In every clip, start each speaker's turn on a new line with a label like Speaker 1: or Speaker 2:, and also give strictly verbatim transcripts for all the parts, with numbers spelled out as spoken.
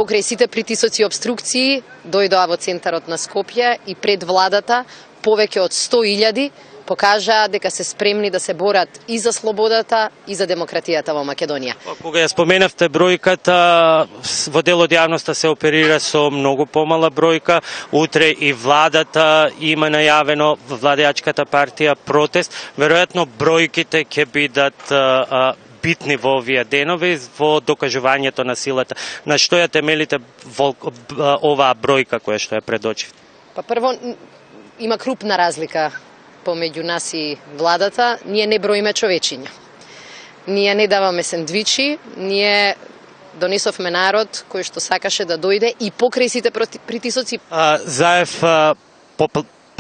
Speaker 1: Покрај сите притисоци и обструкции, дојдоа во центарот на Скопје и пред владата повеќе од сто илјади покажаа дека се спремни да се борат и за слободата и за демократијата во Македонија.
Speaker 2: Кога ја споменавте бројката, во дел од јавноста се оперира со многу помала бројка. Утре и владата има најавено, владеачката партија, протест. Веројатно бројките ќе бидат а, битни во овие денови во докажувањето на силата. На што ја темелите во оваа бројка која што ја предочивте?
Speaker 1: Па прво, има крупна разлика помеѓу нас и владата. Ние не броиме човечиња. Ние не даваме сендвичи, ние донесовме народ кој што сакаше да дојде и покрај сите притисоци.
Speaker 2: А, Заев а,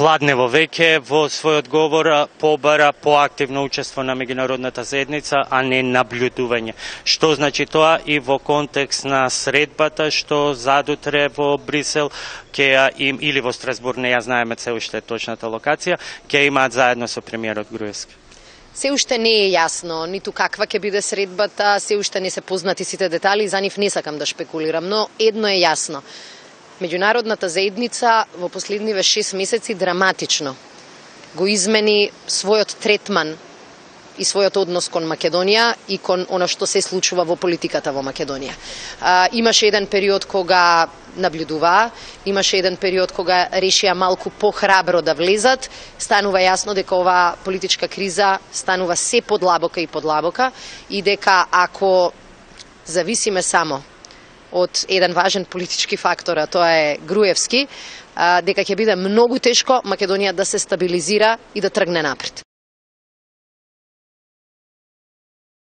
Speaker 2: попладнево веќе во својот говор побара поактивно учество на меѓународната заедница, а не наблюдување. Што значи тоа и во контекст на средбата што задутре во Брисел, ќе им, или во Страсбург, не ја знаеме се уште точната локација, ќе имаат заедно со премиерот Груевски?
Speaker 1: Се уште не е јасно ниту каква ќе биде средбата, се уште не се познати сите детали, за нив не сакам да шпекулирам, но едно е јасно. Меѓународната заедница во последниве шест месеци драматично го измени својот третман и својот однос кон Македонија и кон она што се случува во политиката во Македонија. А, имаше еден период кога наблюдуваа, имаше еден период кога решија малку похрабро да влезат, станува јасно дека оваа политичка криза станува се подлабока и подлабока и дека ако зависиме само од еден важен политички фактор, а тоа е Груевски, дека ќе биде многу тешко Македонија да се стабилизира и да тргне напред.